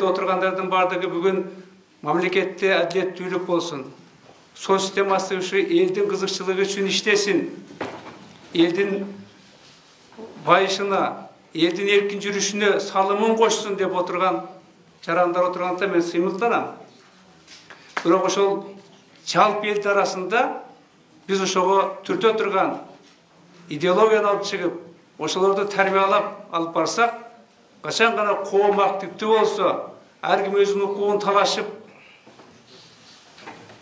отургандардын баардыгы бүгүн мамлекетте адилеттүүлүк болсун, сот системасы ушу элдин кызыкчылыгы үчүн иштесин, элдин байышына, элдин эркин жүрүшүнө салымын кошсун деп отурган жарандар отурганда мен сыймыктанам. Бирок ошол жалпы эл арасында биз ошого түртө турган идеологияны алып чыгып, ошолорду тарбиялап алып барсак, качан гана коом активдүү болсо, ар ким өзүнүн укугун талашып,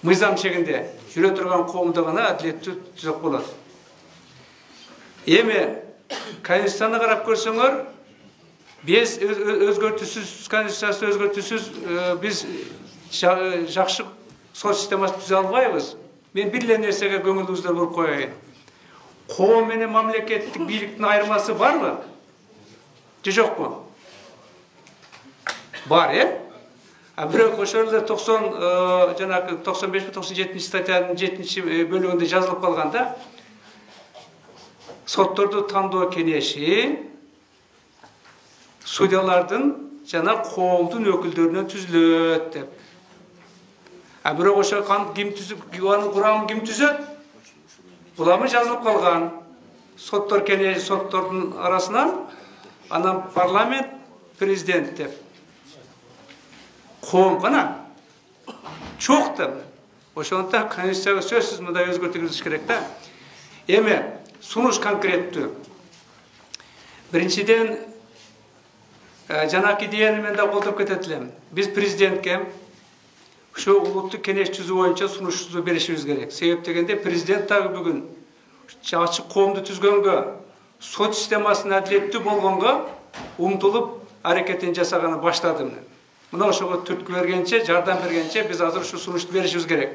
мыйзам чегинде жүрө турган коомдо гана адилеттүү түзөк болот. Эми Конституцияны карап көрсөңөр, биз өзгөртүүсүз Конституциясы өзгөртүүсүз биз жакшы сот системасын түзө албайбыз. Мен бир эле нерсеге көңүлүңүздөр буруп коеюн. Коом менен мамлекеттик бийликтин айырмасы барбы? Же жокпу? Бар, бирок ошол эле 95-97 статьянын 7-бөлүгүндө жазылып калганда, сотторду тандоо кеңеши судьялардын жана коомдун өкүлдөрүнөн түзүлөт деп. Бирок ошо ким түзүп, анын курамын ким түзөт? Буламы жазылып калган. Соттор кеңеши соттордун арасынан, анан парламент, президент деп. Коом гана чок деп. Ошондуктан Конституцияга сөзсүз мындай өзгөртүү киргизиш керек да. Эми сунуш конкреттүү. Биринчиден, жанакы идеяны мен да колдоп кетет элем. Биз президентке ушу улуттук кеңеш түзүү боюнча сунушубузду беришибиз керек. Себеп дегенде президент дагы бүгүн ачык коомду түзгөнгө, сот системасын адилеттүү болгонго умтулуп аракетин жасаганы баштады. Мына ошого түрткү бергенче, жардам бергенче биз азыр ушу сунушту беришибиз керек.